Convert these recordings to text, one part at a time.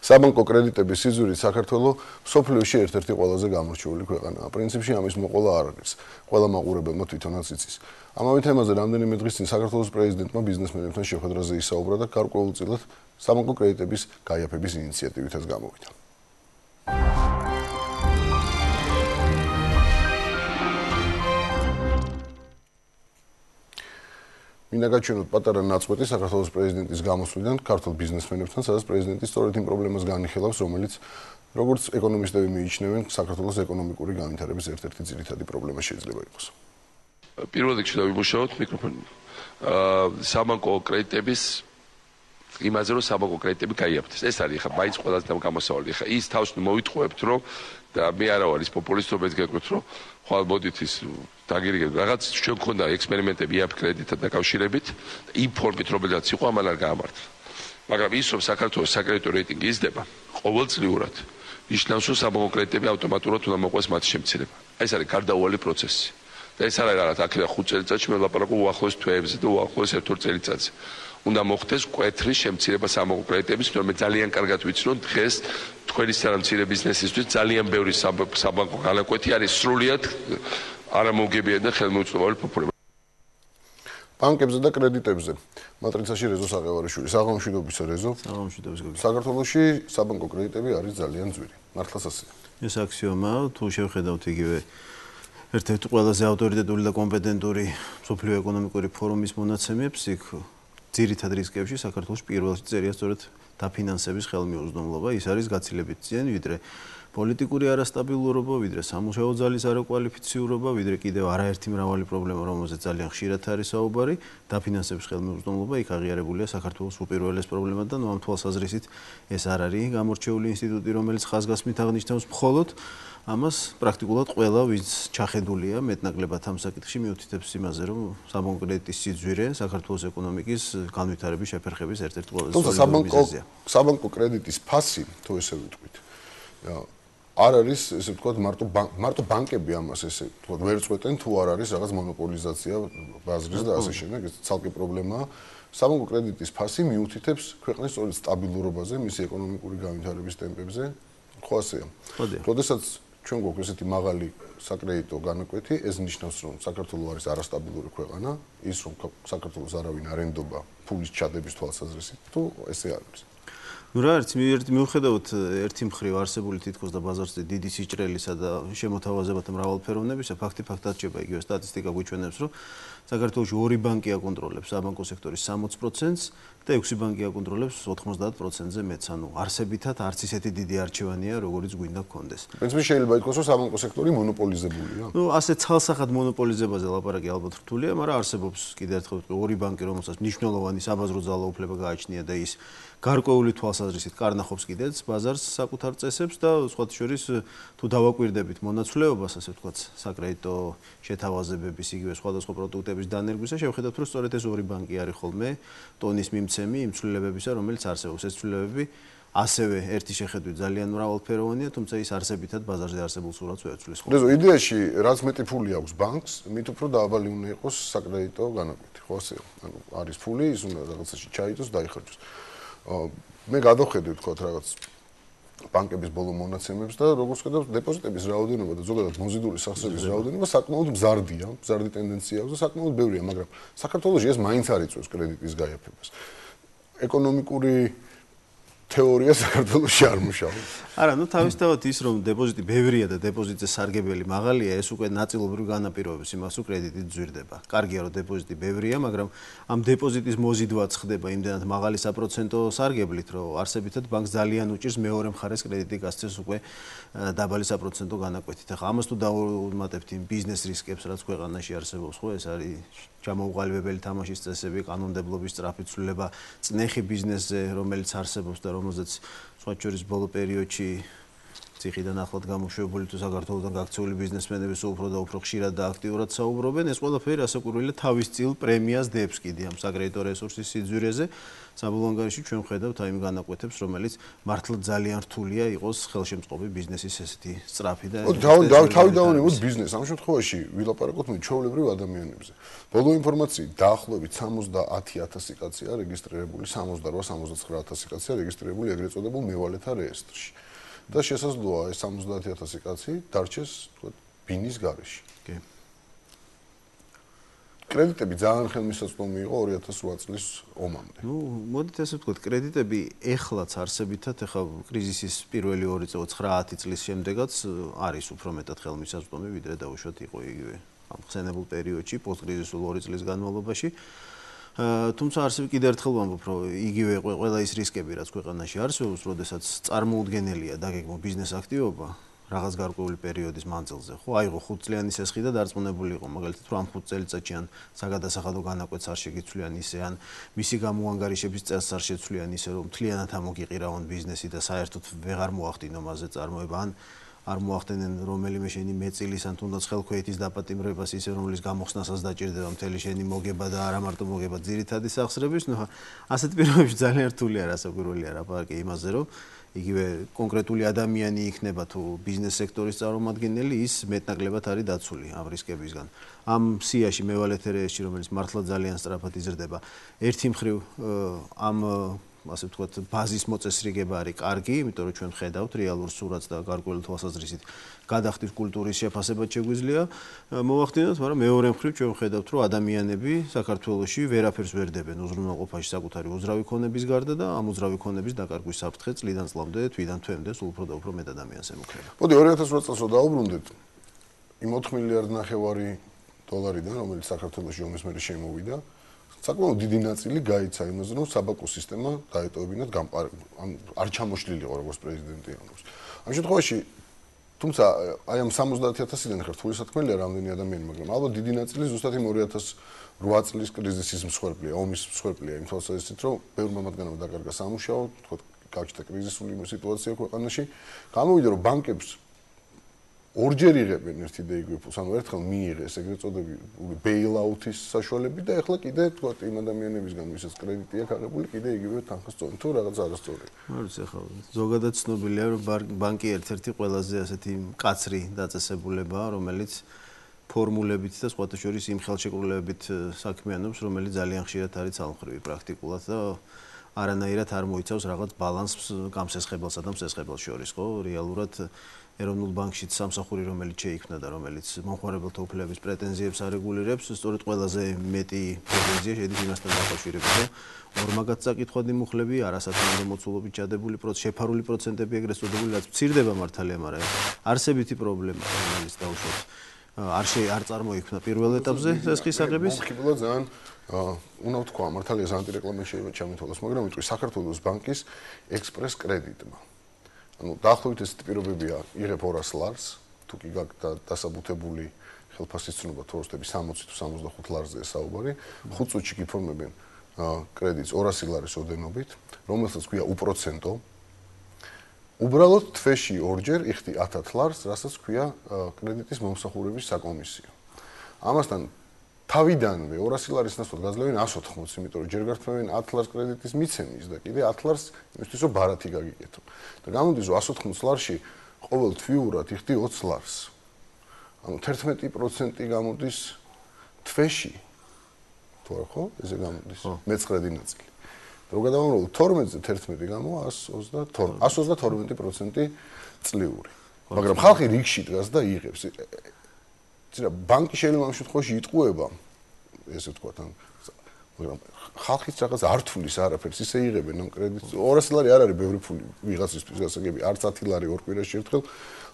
საბანკო კრედიტების სიზურით საქართველო მსოფლიოში ერთ-ერთი ყველაზე გამორჩეული ქვეყანაა. პრინციპში ამის მოყოლა არ არის. ყველა მაყურებელმა თვითონაც იცის. ამავე თემაზე რამდენიმე დღის წინ საქართველოს პრეზიდენტმა ბიზნესმენებთან შეხვედრაზე ისაუბრა და გარკვეულწილად საბანკო კრედიტების გაიაფების ინიციატივითაც გამოვიდა. მინდა გაჩვენოთ პატარა ნაწყვეტი საქართველოს პრეზიდენტის გამოსვლიდან ქართულ ბიზნესმენებთან, სადაც პრეზიდენტი სწორედ იმ პრობლემას განიხილავს, რომელიც როგორც ეკონომისტები მიიჩნევენ, საქართველოს ეკონომიკური განვითარების ერთ-ერთი ძირითადი პრობლემა შეიძლება იყოს. პირველ რიგში დავიმუშაოთ მიკროფონი. საბანკო კრედიტების იმაზე რომ საბანკო კრედიტები გაიაფთეს. ეს არის ხა მაინც ყველაზე გამოსავალი. ხა ის თავს მოვიტყუებთ რომ და მე არა ვარ ის პოპულისტობეთ გეტყვით რომ ხვალ მოდით ის დაგირიგებთ რაღაც ჩვენ გქონდა ექსპერიმენტები იაფ კრედიტთან დაკავშირებით იმ ფორმით რომელსაც იყო ამან არ გაამართლა. მაგრამ ის რომ საქართველოს საკრედიტო რეიტინგი იზრდება ყოველწლიურად ნიშნავს რომ საბანკო კრედიტები ავტომატურად უნდა მოყვეს მათი შემცირება. ეს არის გარდაუვალი პროცესი. და ეს არის რაღაც აქედან 5 წელიწადში მე ვლაპარაკობ უახლოეს თვეებზე და უახლოეს 1-2 წელიწადზე. უნდა მოხდეს კვეთრი შემცირება საბანკო კრედიტების, მაგრამ მე ძალიან კარგად ვიცი რომ დღეს თქვენი სამცირე ბიზნესისთვის ძალიან ბევრი საბანკო განაკვეთი არის სრულიად არამოუგებიანი და ხელმოუწყობელი ფოფურება. ბანკებზე და კრედიტებზე. მატრიცაში რეზო საღევარიშვილი, საღამოშვიდობის რეზო. საღამოშვიდობის გოგო. საქართველოში საბანკო კრედიტები არის ძალიან ძვირი. მართლაც ასეა. ეს აქსიომაა, თუ შევხედავთ იგივე ერთ-ერთი ყველაზე ავტორიტეტული და კომპეტენტური მსოფლიო ეკონომიკური ფორუმის მონაცემებს, იქ ძირითად რისკებში საქართველოს პირველში წერია სწორედ დაფინანსების ხელმიუწვდომლობა, ის არის გაცილებით ძნელი, ვიდრე პოლიტიკური არასტაბილურობა, ვიდრე სამუშაო ძალის არაკვალიფიციურობა, ვიდრე კიდევ არაერთი მრავალი პრობლემა, რომელზეც ძალიან ხშირად არის საუბარი, დაფინანსების ხელმიუწვდომლობა იქ აღიარებულია საქართველოს უპირველეს პრობლემად და ამ თვალსაზრისით ეს არ არის გამორჩეული ინსტიტუტი, რომელიც ხაზგასმით აღნიშნავს მხოლოდ ამას პრაქტიკულად ყველა ვინც ჩახედულია მეტნაკლებად ამ საკითხში მიუთითებს იმაზე, რომ საბანკო კრედიტის სიძვირე საქართველოს ეკონომიკის განვითარების შეფერხების ერთ-ერთი ყველაზე სოლიდური მიზეზია. საბანკო კრედიტის ფასი, თუ ესე ვიტყვით, არ არის, ესე ვთქვათ, მარტო ბანკები ამას ესე ვთქვათ, ვერ წვეტენ, თუ არ არის რაღაც მონოპოლიზაცია ბაზრის და ასე შემდეგ, ეს ცალკე პრობლემაა. საბანკო კრედიტის ფასი მიუთითებს ქვეყნის სწორედ სტაბილურობაზე, მისი ეკონომიკური განვითარების ტემპებზე, ხო ასეა. როდესაც ჩვენ გვაქვს ესეთი მაღალი საკრედიტო განაკვეთი, ეს ნიშნავს, რომ საქართველო არის არასტაბილური ქვეყანა, ის რომ საქართველოს არავინ არ ენდობა ფულის ჩადების თვალსაზრისით, თუ ესე არ არის. ნუ რა არის, მიუხედავად ერთი მხრივ არსებული თითქოს და ბაზარზე დიდი სიჭრელისა და შემოთავაზებათა მრავალფეროვნებისა, ფაქტად რჩება იგივე სტატისტიკა გვიჩვენებს, რომ საქართველოში 2 ბანკი აკონტროლებს საბანკო სექტორის 60%-ს და 6 ბანკი აკონტროლებს 90%-ზე მეტს. ანუ არსებითად არც ისეთი დიდი არჩევანია, როგორიც გვინდა გქონდეს. პრინციპში შეიძლება ითქვას, რომ საბანკო სექტორი მონოპოლიზებულია. ნუ ასე ცალსახად მონოპოლიზებაზე ლაპარაკი ალბათ რთულია, მაგრამ არსებობს კიდევ ერთხელ 2 ბანკი, რომელსაც მნიშვნელოვანი საბაზრო ძალაუფლება გააჩნია და ის გარკვეული თვალსაზრისით კარნახობს კიდეც ბაზარს საკუთარ წესებს და სხვათა შორის თუ დავაკვირდებით მონაცვლეობას, ასე ვთქვათ, საკრედიტო შეთავაზებების იგივე სხვადასხვა პროდუქტების დანერგვისა, შევხედავთ, რომ სწორედ ეს 2 ბანკი არის ხოლმე ტონის მიმცემი იმ ცვლილებებისა, რომელიც არსებობს. ეს ცვლილებები ასევე ერთი შეხედვით ძალიან მრავალფეროვანია, თუმცა ის არსებითად ბაზარზე არსებულ სურათს ვერ ცვლის. რეზო, იდეაში რაც მეტი ფული აქვს ბანკს, მით უფრო დააბალი უნდა იყოს საკრედიტო განაკვეთი, ხო ასეა? ანუ არის ფული, ის უნდა რაღაცაში ჩაიდოს, დაიხარჯოს. მე გადავხედე ვთქვათ რაღაც ბანკების ბოლო მონაცემებს და როგორც ხედავთ დეპოზიტების რაოდენობა და ზოგადად მოზიდული სახსრების რაოდენობა საკმაოდ მზარდია, მზარდი ტენდენცია აქვს და საკმაოდ ბევრია, მაგრამ საქართველოში ეს მაინც არ იწვევს კრედიტის გაიაფებას. ეკონომიკური თეორია საქართველოში არ მუშაობს. არა, ნუ თავისთავად ის რომ დეპოზიტი ბევრია და დეპოზიტზე სარგებელი მაღალია, ეს უკვე ნაწილობრივ განაპირობებს იმას, რომ კრედიტი ძვირდება. კარგია რომ დეპოზიტი ბევრია, მაგრამ ამ დეპოზიტის მოზიდვაც ხდება იმდენად მაღალი საპროცენტო სარგებლით, რომ არსებითად ბანკს ძალიან უჭირს მეორე მხარეს კრედიტი გასცეს უკვე დაბალი საპროცენტო განაკვეთით. ახლა ამას თუ დავუმატებთ იმ ბიზნეს რისკებს, რაც ქვეყანაში არსებობს, ხო, ეს არის ჩამოუყალიბებელი თამაშის წესები, კანონმდებლობის სწრაფი ცვლილება, წნეხი ბიზნესზე, რომელიც არსებობს და რომელზეც სხვა შორის ბოლო პერიოდში ციხიდან ახლად გამოშვებული თუ საქართველოსთან გაქცეული ბიზნესმენები უფრო და უფრო ხშირად და აქტიურად საუბრობენ, ეს ყველაფერი რასაკვირველია თავის წილ პრემიას დებს კიდე ამ საკრედიტო რესურსის სიძვირეზე. საბოლოო ანგარიში ჩვენ ვხედავთ აი იმ განაკვეთებს, რომელიც მართლა ძალიან რთულია იყოს ხელშემწყობი ბიზნესის ესეთი სწრაფი და თავი დავანებოთ ბიზნესს. ამ შემთხვევაში ვილაპარაკოთ მე ჩვეულებრივ ადამიანებზე. ბოლო ინფორმაციით დაახლოებით 70000 კაცია რეგისტრირებული, 78-79000 კაცია რეგისტრირებული ეგრეთ წოდებულ მევალეთა რეესტრში. და შესაძლოა ეს 70000 კაცი დარჩეს, თქვა, ბინის გარეშე. კი. კრედიტები ძალიან ხელმისაწვდომი იყო 2008 წლის ომამდე. მოდით ესე ვთქვათ, კრედიტები ეხლაც არსებითად, ეხლა კრიზისის პირველი 2 წელი 9-10 წლის შემდეგაც არის უფრო მეტად ხელმისაწვდომი, ვიდრე დაუშვათ იყო იგივე ამ ხსენებულ პერიოდში, პოსტკრიზისულ 2 წლის განმავლობაში. თუმცა არსებობს კიდევ ერთხელ ვამბობ, რომ იგივე ყველა ის რისკები, რაც ქვეყანაში არსებობს, როდესაც წარმოუდგენელია დაგეგმო ბიზნეს აქტივობა რაღაც გარკვეული პერიოდის მანძილზე, ხო, აიღო 5 წლიანი სესხი და დარწმუნებული იყო, მაგალითად, რომ ამ 5 წელიწადში ან საგადასახადო განაკვეთს არ შეგიცვლიან ისე, ან მისი გამოანგარიშების წელს არ შეცვლიან ისე, რომ მთლიანად ამოგიყირავონ ბიზნესი და საერთოდ ვეღარ მოახდინო მასზე წარმოება, ან არ მოახდენენ რომელიმე შენი მეწილის ან თუნდაც ხელქვეითის დაპატიმრებას ისე, რომლის გამოხსნასაც დაჭირდება მთელი შენი მოგება და არა მარტო მოგება, ძირითადი სახსრების, ასეთ პირობებში ძალიან რთულია რასაკვირველია ლაპარაკი იმაზე, რომ იგივე კონკრეტული ადამიანი იქნება თუ ბიზნეს სექტორის წარმომადგენელი, ის მეტნაკლებად არის დაცული ამ რისკებისგან. ამ სიაში მევალეთა რეესტრში, რომელიც მართლა ძალიან სწრაფად იზრდება, ერთი მხრივ ამ ასე ვთქვათ, ბაზის მოწესრიგება არის კარგი, იმიტომ რომ ჩვენ ხედავთ რეალურ სურათს და გარკვეული თვალსაზრისით გადახდის კულტურის შეფასებაც შეგვიძლია მოვახდინოთ, მაგრამ მეორე მხრივ ჩვენ ხედავთ, რომ ადამიანები საქართველოში ვერაფერს ვერ დებენ უზრუნველყოფაში საკუთარი უძრავი ქონების გარდა და ამ უძრავი ქონების დაკარგვის საფრთხე წლიდან წლამდე, თვიდან თვემდე სულ უფრო და უფრო მეტ ადამიანს ემუქრება. მოდი 2008 წელს რო დაუბრუნდეთ იმ 4 მილიარდ ნახევარი დოლარიდან, რომელიც საქართველოში ომის მერე შემოვიდა, საკმაოდ დიდი ნაწილი გაიცა იმაზე, რომ საბანკო სისტემა დაეტოვებინათ არ ჩამოშლილიყო როგორც პრეზიდენტი ამბობს. ამ შემთხვევაში თუმცა აი ამ 70000-დან ხარ რთული სათქმელია რამდენი ადამიანი, მაგრამ ალბათ დიდი ნაწილი ზუსტად იმ 2008 წლის კრიზისის მსხვერპლია, ომის მსხვერპლია იმ თვალსაზრისით, რომ ბევრმა მათგანმა დაკარგა სამუშაო, თქო, გაჩნდა კრიზისული სიტუაცია ქვეყანაში, გამოვიდა რომ ბანკებს ორჯერ იღებენ ერთი და იგივე ფულს, ანუ ერთხელ მიიღეს ეგრეთ წოდებული ბეილაუთის საშუალები და ეხლა კიდე თქვა იმ ადამიანებისგან, ვისაც კრედიტი აქვს აღებული, კიდე იგივე თანხას წონი თუ რაღაც არასწორია. არ ვიცი, ახლა ზოგადად ცნობილია, რომ ბანკი ერთ-ერთი ყველაზე ასეთი მკაცრი დაწესებულებაა, რომელიც ფორმულებით და სხვათა შორის იმ ხელშეკრულებით საქმიანობს, რომელიც ძალიან ხშირად არის ცალმხრივი პრაქტიკულად და არანაირად არ მოიცავს რაღაც ბალანსს გამსესხებელსა და მსესხებელს შორის, ხო? რეალურად ეროვნულ ბანკშიც სამსახური, რომელიც შეიქმნა და რომელიც მომხმარებელთა უფლებების პრეტენზიებს არეგულირებს, სწორედ ყველაზე მეტი პრეტენზია შედის იმასთან დაკავშირებით, რომ ორმაგად წაკითხვადი მუხლები, არასათანადო მოცულობით ჩადებული შეფარული პროცენტები ეგრეთ წოდებული, რაც მცირდება მართალია, მაგრამ არსებითი პრობლემაა, რომელიც დაუშვათ არ წარმოიქმნა პირველ ეტაპზე სესხის აღების. მომხიბლა ძალიან უნდა ვთქვა, მართალია ანტირეკლამა შეიძლება ჩამეთვალოს, მაგრამ ვიტყვი საქართველოს ბანკის ექსპრეს კრედიტმა. ანუ დაახლოებით ეს პირობებია, იღებ 200 ლარს, თუ კი გაქვს დასაბუთებული ხელფასის ცნობა თოროსტები 60 თუ 65 ლარზეა საუბარი, 5 წუთში გიფორმებენ კრედიტს 200 ლარის ოდენობით, რომელსაც ქვია უპროცენტო. უბრალოდ თვეში ორჯერ იხდი 10 ლარს, რასაც ქვია კრედიტის მომსახურების საკომისიო. ამასთან თავიდანვე 200 ლარის ნაცვლად გაძლევენ 180, იმიტომ რომ ჯერ გართმევენ 10 ლარს კრედიტის მიცემის და კიდე 10 ლარს იმისთვის რომ ბარათი გაგიკეთო. და გამოდის რომ 180 ლარში ყოველ თვიურად იხდი 20 ლარს. ანუ 11% გამოდის თვეში. თუ არ ხო, ესე გამოდის. მეცხრედი ნაწილი. რო გადავამრავლო 12-ზე 11 გამო 132% წლიური. მაგრამ ხალხი რიგში დგას და იღებს. ცირა ბანკი შეიძლება ამ შემთხვევაში იტყუება, ესე ვთქვათ, მაგრამ ხალხიც რაღაც არ თulis არაფერს ისე იღებენ ამ კრედიტს. 200 ლარი არ არის ბევრი ფული ვიღაცისთვის გასაგები, არც 10 ლარი ორ კვირაში ერთხელ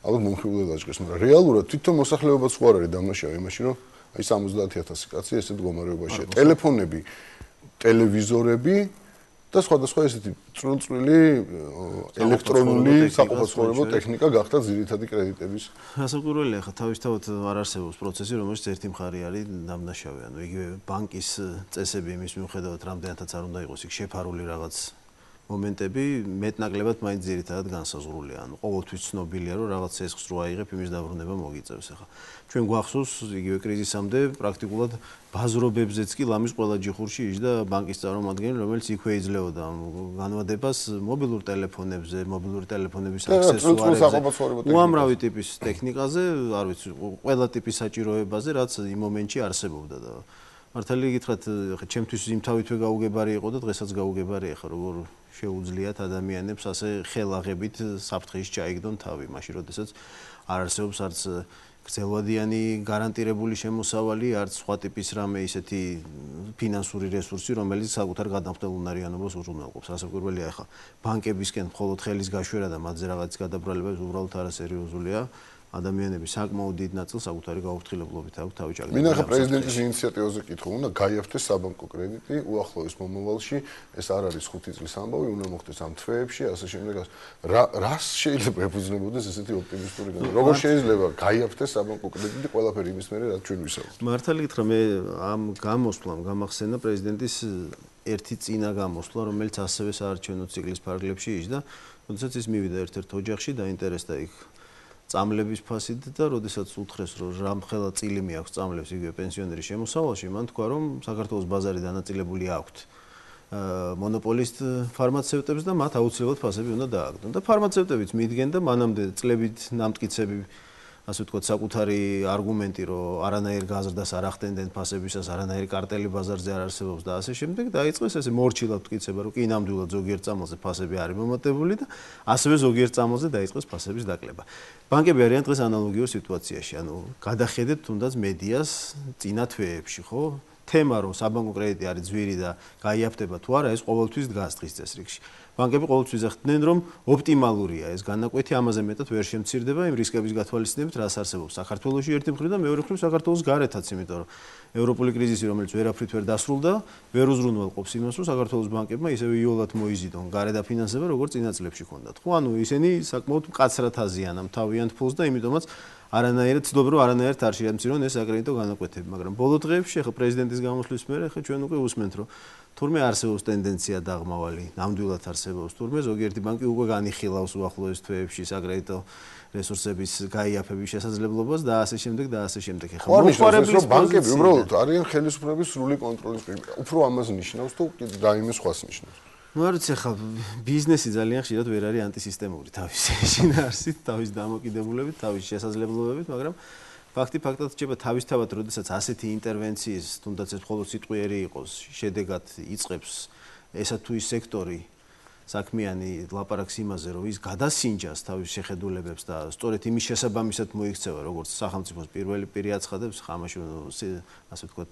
ალბათ მომხიბვლად აჭყეს, მაგრამ რეალურად თვითონ მოსახლეობაც ხო არ არის დამნაშავე იმაში, რომ აი 70000 კაცი ესეთ მდგომარეობაშია. ტელეფონები, ტელევიზორები და სხვადასხვა ესეთი წვრილ-წვრილი ელექტრონული საყოფაცხოვრებო ტექნიკა გახდა ძირითადი კრედიტების. რასაკვირველია, ხა თავისთავად არ არსებობს პროცესი, რომელიც ერთი მხარე არის დამნაშავე. ანუ იგივე ბანკის წესები იმის მიუხედავად, რამდენადაც არ უნდა იყოს იქ შეფარული რაღაც მომენტები მეტნაკლებად მაინც ძირითადად განსაზღვრულია. ანუ ყოველთვის ცნობილია, რომ რაღაც ცესხს რო აიღებ, იმის დაბრუნება მოგიწევს. ახლა ჩვენ გვახსოვს იგივე კრიზისამდე პრაქტიკულად ბაზრობებზეც კი ლამის ყველა ჯიხურში იჯდა ბანკის წარმომადგენელი, რომელიც იქვე იძლეოდა განვადებას მობილურ ტელეფონებზე, მობილური ტელეფონების აქსესუარებზე, უამრავი ტიპის ტექნიკაზე, არ ვიცი, ყველა ტიპის საჭიროებაზე, რაც იმ მომენტში არსებობდა და მართალი გითხრათ, ხა ჩემთვის იმთავითვე გაუგებარი იყო და დღესაც გაუგებარია ხა როგორ შეუძლიათ ადამიანებს ასე ხელაღებით საფრთხეში ჩაიგდონ თავი, მაშინ როდესაც არ არსებობს არც გრძელვადიანი გარანტირებული შემოსავალი, არც სხვა ტიპის რამე ისეთი ფინანსური რესურსი, რომელიც საკუთარ გადამხდელ უნარიანობას უზრუნველყოფს. რასაკვირველია ხა ბანკებისკენ მხოლოდ ხელის გაშვერა და მათზე რაღაც გადაბრალება უბრალოდ არასერიოზულია. ადამიანები საკმაოდ დიდ ნაწილს საკუთარი გაუფრთხილებლობით აქვს თავი ჩაგდებული. მინდა ხა პრეზიდენტის ინიციატივაზე კითხო, უნდა გაიაფთეს საბანკო კრედიტი უახლოეს მომავალში, ეს არ არის 5 წლის ამბავი, უნდა მოხდეს ამ თვეებში, ასე შემდეგ. რას შეიძლება ეფუძნებოდეს ესეთი ოპტიმისტური განწყობა? როგორ შეიძლება გაიაფთეს საბანკო კრედიტი ყველაფერი იმის მერე, რაც ჩვენ ვისაუბრებთ? მართალი გითხრა, მე ამ გამოსვლამ გამახსენა პრეზიდენტის ერთი წინა გამოსვლა, რომელიც ასევე საარჩევნო ციკლის ფარგლებში იჯდა, როდესაც ის მივიდა ერთ-ერთ ოჯახში, დაინტერესდა იქ წამლების ფასით და როდესაც უთხრეს რომ რამხელა წილი მეაქვს წამლებს იგივე პენსიონერის შემოსავალში, მან თქვა რომ საქართველოს ბაზარი დანაწილებული აქვთ მონოპოლისტ ფარმაცევტებს და მათ აუცილებლად ფასები უნდა დააგდონ. და ფარმაცევტებიც მიდგენ და მანამდე წლებით ნამტკიცები ასე ვთქვათ, საკუთარი არგუმენტი, რომ არანაირ გაზრდას არ ახდენდნენ ფასებისას, არანაირი კარტელი ბაზარზე არ არსებობს და ასე შემდეგ, დაიწყეს ესე მორჩილად მტკიცება, რომ კი ნამდვილად ზოგიერთ წამალზე ფასები არის მომატებული და ასევე ზოგიერთ წამალზე დაიწყეს ფასების დაკლება. ბანკები არიან დღეს ანალოგიურ სიტუაციაში, ანუ გადახედეთ თუნდაც მედიას წინა თვეებში, ხო? თემა რომ საბანკო კრედიტი არის ძვირი და გაიაფთება თუ არა, ეს ყოველთვის დგას დღის წესრიგში. ბანკები ყოველთვის ეხდნენ რომ ოპტიმალურია ეს განაკვეთი, ამაზე მეტად ვერ შემცირდება იმ რისკების გათვალისწინებით, რაც არსებობს საქართველოში ერთი მხრივ და მეორე მხრივ საქართველოს გარეთაც, იმიტომ რომ ევროპული კრიზისი, რომელიც ვერაფრით ვერ დასრულდა, ვერ უზრუნველყოფს იმას, რომ საქართველოს ბანკებმა ისევე იოლად მოიზიდონ გარე დაფინანსება, როგორც წინა წლებში ჰქონდათ. ხო, ანუ ისინი საკმაოდ მკაცრად აზიანან თავიანთ ფულს და იმიტომაც არანაირად ცდილობენ რომ არანაირად არ შეამცირონ ეს აკრედიტო განაკვეთები, მაგრამ ბოლო დღეებში ახლა პრეზიდენტის გამოსვლის მერე ახლა ჩვენ უკვე უსმენთ რომ თურმე არსებობს ტენდენცია დაღმავალი, ნამდვილად არსებობს თურმე ზოგიერთი ბანკი უკვე განიხილავს უახლოეს თვეებში საკრედიტო რესურსების გაიაფების შესაძლებლობას და ასე შემდეგ და ასე შემდეგ. ახლა მოხარებლის ბანკები უბრალოდ არიან ხელისუფლების სრული კონტროლის პირი. უფრო ამას ნიშნავს თუ რაიმე სხვას ნიშნავს? ну არ ვიცი ხა ბიზნესი ძალიან ხშირად ვერ არის ანტისისტემური თავის შინაარსით, თავის დამოკიდებულებით, თავის შესაძლებლობებით, მაგრამ ფაქტი ფაქტად რჩება თავისთავად, როდესაც ასეთი ინტერვენციის, თუნდაც ეს მხოლოდ სიტყვიერი იყოს, შედეგად იწყებს ესა თუ ის სექტორი საქმიანი ლაპარაკს იმაზე, რომ ის გადასინჯას თავის შეხედულებებს და სწორედ იმის შესაბამისად მოიქცევა, როგორც სახელმწიფოს პირველი პირი აცხადებს, ხამაში ასე ვთქვათ,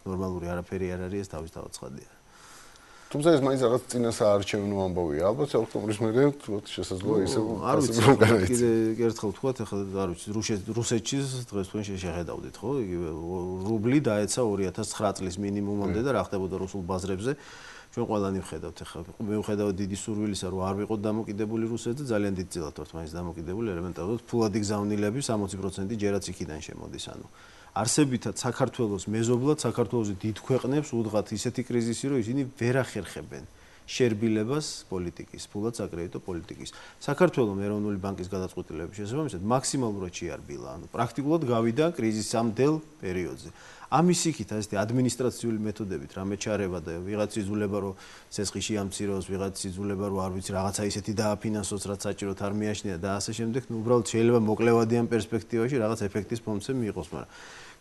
ნორმალური არაფერი არ არის, ეს თავისთავად ცხადია. თუმცა ეს მაინც რაღაც წინა საარჩევნო ამბავია. ალბათ ოქტომბრის მერე თქო შესაძლოა ისე არ ვიცი, კიდე ერთხელ ვთქვათ, ახლა არ ვიცი, რუსეთში დღეს თქვენ შეხედავდით, ხო? იგივე რუბლი დაეცა 2009 წლის მინიმუმამდე და რა ხდებოდა რუსულ ბაზრებზე. ჩვენ ყველანი ვხედავთ, ახლა მე ვხედავ დიდი სურვილისა, რომ არ ვიყოთ დამოკიდებული რუსეთზე, ძალიან დიდ წილად ვართ მაინც დამოკიდებული, ელემენტარულად ფულადი გზავნილები 60% ჯერაც იქიდან შემოდის, ანუ არსებითად საქართველოს მეზობლად საქართველოს დიდ ქვეყნებს უდღათ ისეთი კრიზისი, რომ ისინი ვერ ახერხებენ შერბილებას პოლიტიკის, ფულად საკრედიტო პოლიტიკის. საქართველოს ეროვნული ბანკის გადაწყვეტილების შესაბამისად მაქსიმალურად შეარბილა, ანუ პრაქტიკულად გავიდა კრიზისამდელ პერიოდზე. ამის იქით ასეთი ადმინისტრაციული მეთოდებით რამე ჩარება და ვიღაც იზულება რომ ცესხი შეამციროს, ვიღაც იზულება რომ არ ვიცი რაღაცა ისეთი დააფინანსოს, რაც საჭიროდ არ მიაჩნია და ასე შემდეგ, ну უბრალოდ შეიძლება მოკლევადიან პერსპექტივაში რაღაც ეფექტის მომცემ მიიღოს, მაგრამ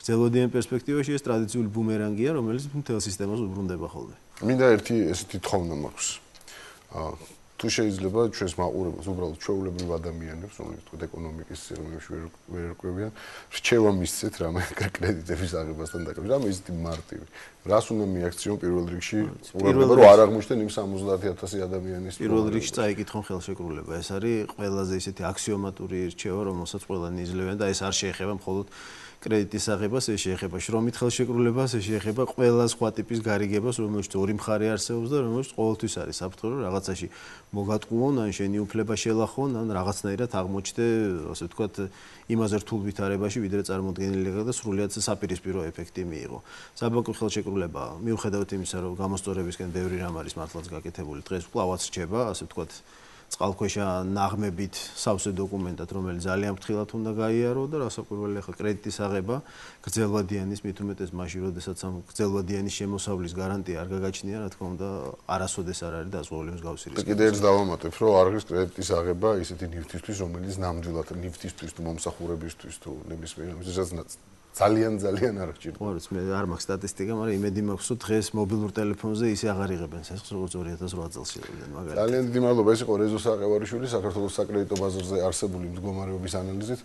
გრძელვადიან პერსპექტივაში ეს ტრადიციული ბუმერანგია, რომელიც მთელ სისტემას უბრუნდება ხოლმე. მინდა ერთი ესეთი თხოვნა მაქვს. თუ შეიძლება ჩვენს მაყურებელს უბრალოდ ჩვეულებრივ ადამიანებს, რომლებიც თქო ეკონომიკის სიღრმეებში ვერ erკვევიან, რჩევა მისცეთ რამე კრედიტების აღებასთან დაკავშირებით. რამე ისეთი მარტივი. რას უნდა მიაქციონ პირველ რიგში? უბრალოდ რომ არ აღმოჩნდნენ იმ 50000 ადამიანის პირველ რიგში წაიკითხონ ხელშეკრულება. ეს არის ყველაზე ისეთი აქსიომატური რჩევა, რომელსაც ყველანი იძლევიან და ეს არ შეეხება მხოლოდ კრედიტის აღებას, ეს შეეხება შრომით ხელშეკრულებას, ეს შეეხება ყველა სხვა ტიპის გარიგებას, რომელშიც ორი მხარე არსებობს და რომელშიც ყოველთვის არის საფრთხე, რომ რაღაცაში მოგატყუონ, ან შენი უფლება შელახონ, ან რაღაცნაირად აღმოჩნდე, ასე ვთქვათ, იმაზე რთულ ვითარებაში, ვიდრე წარმოდგენილი და სრულიად საპირისპირო ეფექტი მიიღო. საბანკო ხელშეკრულება, მიუხედავად იმისა, რომ გამოსწორებისკენ ბევრი რამ არის მართლაც გაკეთებული, დღეს კვლავაც რჩება, ასე ვთქვათ, წყალქვეშა ნაღმებით სავსე დოკუმენტად, რომელიც ძალიან ფრთხილად უნდა გაიარო და რასაკვირველია, ხა კრედიტის აღება გრძელვადიანის მით უმეტეს მაშინ, როდესაც ამ გრძელვადიანის შემოსავლის გარანტია არ გაგაჩნია, რა თქმა უნდა, არასოდეს არ არის დაზღვეული მსგავსი რისკი. კიდევ ერთ დავამატებ, რომ არ არის კრედიტის აღება ისეთი ნივთისთვის, რომელიც ნამდვილად ნივთისთვის თუ მომსახურებისთვის თუ ნებისმიერ ამისასაც ძალიან არ გჭირდება. ყურებს მე არ მაქვს სტატისტიკა, მაგრამ იმედი მაქვს, რომ დღეს მობილურ ტელეფონზე ისე აღარ იღებენ სესხს, როგორც 2008 წელს იღებდნენ მაგალითად. ძალიან დიდი მადლობა, ეს იყო რეზო საყევარიშვილი, საქართველოს საკრედიტო ბაზარზე არსებული მდგომარეობის ანალიზით.